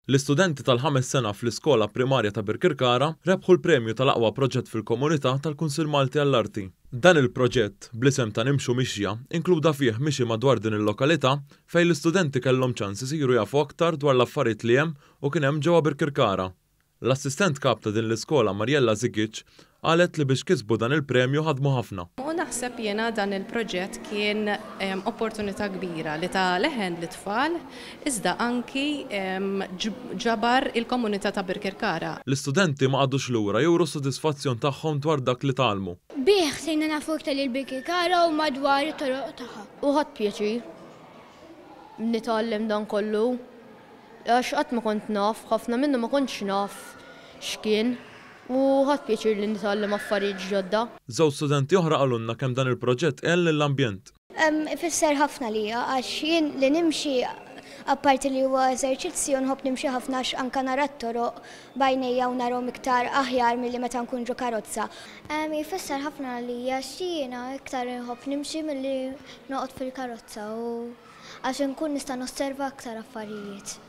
L-istudenti tal-ħames sena fl-iskola primarja ta' Birkirkara rebħu l-premju tal-aqwa proġett fil-komunità tal-Kunsill Malti għall-Arti. Dan il-proġett, bl-isem ta' Nimxu Mixja, inkluda fih mixi madwar din il-lokalità fejn l-istudenti kellhom ċans isiru jafu aktar dwar l-affarijiet li hemm u kien hemm ġewwa Birkirkara. L-Assistent Kap ta' din l-iskola Mariella Zigic qalet li biex kisbu dan il-premju ħadmu ħafna. U naħseb jiena dan il-proġett kien opportunità kbira li ta leħen lit-tfal iżda anki ġabar il-komunità ta' Birkirkara. L-istudenti ma qagħdux lura juru s-sodisfazzjon tagħhom dwar dak li tgħallmu. Bih sirna nafu iktar lil Birkirkara u madwar it-toroq tagħha. U ħadt pjaċir nitgħallem dan kollu għax qatt ma kont naf, ħafna minnu ma kontx naf x'kien u ħadt pjaċir li nitgħallem affarijiet ġodda. Żewġ studenti oħra qalulna kemm dan il-proġett għen lill-ambjent. Ifisser ħafna lija għax jien li nimxi apparti li huwa eżerċizzju nħobb nimxi ħafna għax anke nara t-toroq b'għajnejja u narhom iktar aħjar milli meta nkun ġo karozza. Ifisser ħafna għalija għax jiena iktar inħobb nimxi milli noqgħod fil-karozza u għax inkun nista' nosserva aktar affarijiet.